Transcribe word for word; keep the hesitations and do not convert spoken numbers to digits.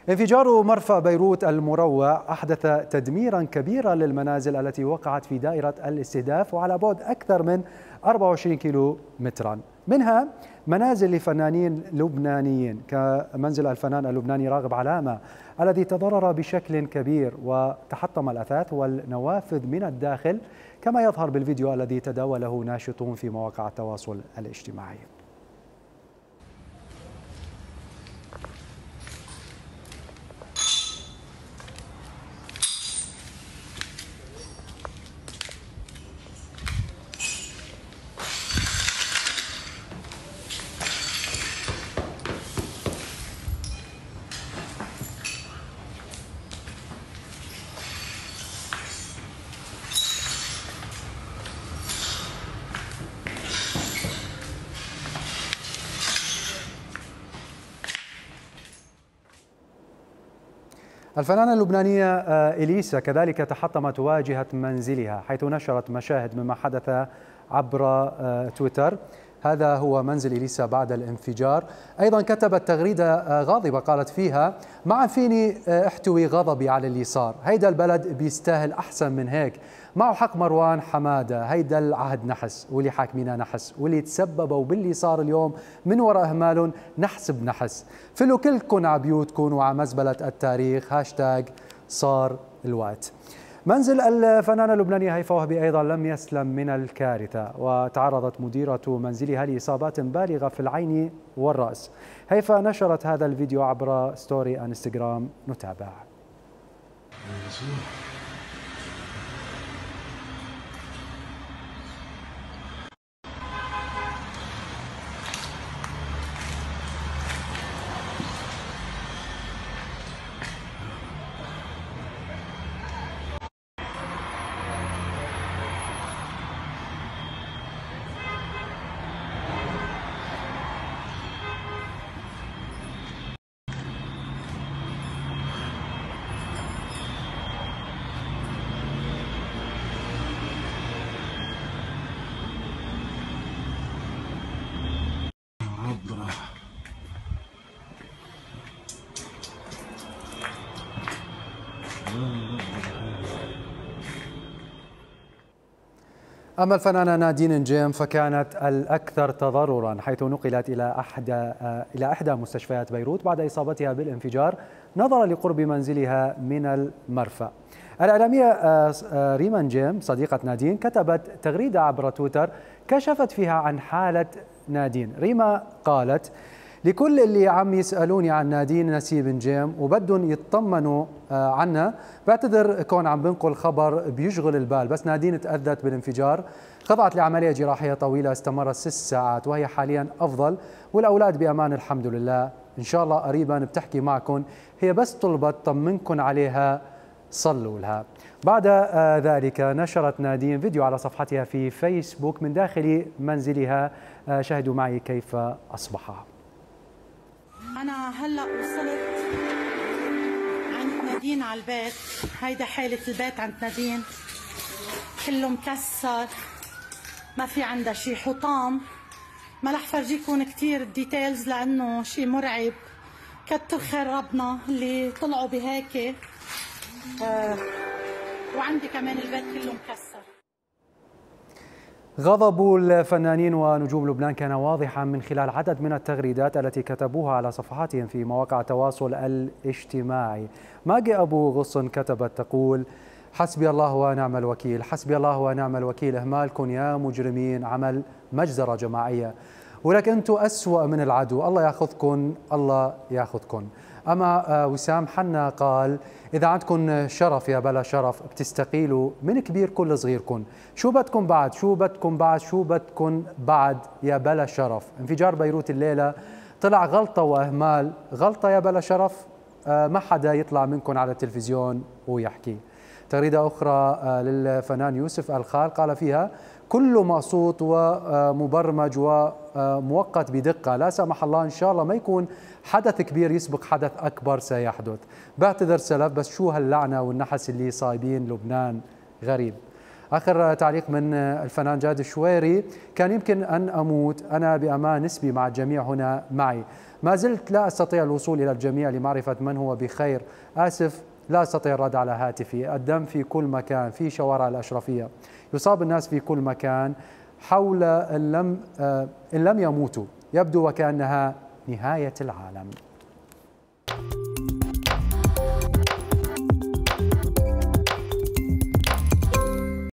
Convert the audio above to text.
انفجار مرفأ بيروت المروع أحدث تدميرا كبيرا للمنازل التي وقعت في دائرة الاستهداف وعلى بعد أكثر من أربعة وعشرين كيلو مترا، منها منازل لفنانين لبنانيين كمنزل الفنان اللبناني راغب علامة الذي تضرر بشكل كبير وتحطم الأثاث والنوافذ من الداخل، كما يظهر بالفيديو الذي تداوله ناشطون في مواقع التواصل الاجتماعي. الفنانة اللبنانية إليسا كذلك تحطمت واجهة منزلها، حيث نشرت مشاهد مما حدث عبر تويتر. هذا هو منزل إليسا بعد الانفجار. أيضا كتبت تغريدة غاضبة قالت فيها: معا فيني احتوي غضبي على اللي صار، هيدا البلد بيستاهل أحسن من هيك، معه حق مروان حمادة، هيدا العهد نحس واللي حاكمينا نحس، واللي تسببوا باللي صار اليوم من وراء أهمالهم نحسب نحس، فلو كلكم عبيوتكم وعمزبلة التاريخ، هاشتاج صار الوقت. منزل الفنانة اللبنانية هيفاء وهبي أيضا لم يسلم من الكارثة، وتعرضت مديرة منزلها لإصابات بالغة في العين والرأس. هيفاء نشرت هذا الفيديو عبر ستوري انستغرام، نتابع. أما الفنانة نادين نجيم فكانت الأكثر تضررا، حيث نقلت إلى أحدى إلى إحدى مستشفيات بيروت بعد إصابتها بالانفجار نظرا لقرب منزلها من المرفأ. الإعلامية ريما نجيم صديقة نادين كتبت تغريدة عبر تويتر كشفت فيها عن حالة نادين. ريما قالت: لكل اللي عم يسألوني عن نادين نسيب نجيم وبدهم يطمنوا عنا، بعتذر كون عم بنقل خبر بيشغل البال، بس نادين تأذت بالانفجار، خضعت لعملية جراحية طويلة استمرت ست ساعات وهي حاليا أفضل والأولاد بأمان الحمد لله، إن شاء الله قريبا بتحكي معكم، هي بس طلبت طمنكم عليها صلوا لها. بعد ذلك نشرت نادين فيديو على صفحتها في فيسبوك من داخل منزلها، شاهدوا معي كيف أصبح. أنا هلأ وصلت عند نادين على البيت، هيدا حالة البيت عند نادين، كله مكسر، ما في عندها شي حطام، ما رح فرجيكم كثير الديتيلز لأنه شي مرعب، كتر خير ربنا اللي طلعوا بهيك. آه وعندي كمان البيت كله مكسر. غضب الفنانين ونجوم لبنان كان واضحا من خلال عدد من التغريدات التي كتبوها على صفحاتهم في مواقع التواصل الاجتماعي. ماجي أبو غصن كتبت تقول: حسبي الله ونعم الوكيل، حسبي الله ونعم الوكيل، إهمالكم يا مجرمين عمل مجزرة جماعية، ولكن أنتم أسوأ من العدو، الله ياخذكم الله ياخذكم. أما وسام حنا قال: إذا عندكم شرف يا بلا شرف بتستقيلوا من كبير كل صغيركم، شو بدكم بعد شو بدكم بعد شو بدكم بعد يا بلا شرف. انفجار بيروت الليلة طلع غلطة وإهمال، غلطة يا بلا شرف، ما حدا يطلع منكم على التلفزيون ويحكي. تغريدة أخرى للفنان يوسف الخال قال فيها: كله مقصود ومبرمج وموقت بدقة، لا سمح الله إن شاء الله ما يكون حدث كبير يسبق حدث أكبر سيحدث، بعتذر سلف بس شو هاللعنة والنحس اللي صايبين لبنان غريب. آخر تعليق من الفنان جاد الشويري: كان يمكن أن أموت، أنا بأمان، اسمي مع الجميع هنا معي، ما زلت لا أستطيع الوصول إلى الجميع لمعرفة من هو بخير، آسف لا أستطيع الرد على هاتفي، الدم في كل مكان، في شوارع الأشرفية، يصاب الناس في كل مكان حول، إن لم, إن لم يموتوا، يبدو وكأنها نهاية العالم.